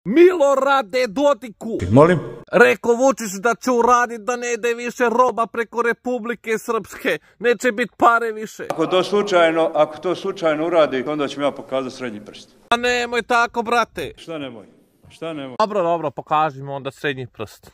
Milorade Dodiku! Molim? Rekao Vučić da će uraditi da ne ide više roba preko Republike Srpske. Neće biti pare više. Ako to slučajno uradi, onda ću mi ja pokazati srednji prst. A nemoj tako, brate. Šta nemoj? Šta nemoj? Dobro, pokaži mi onda srednji prst.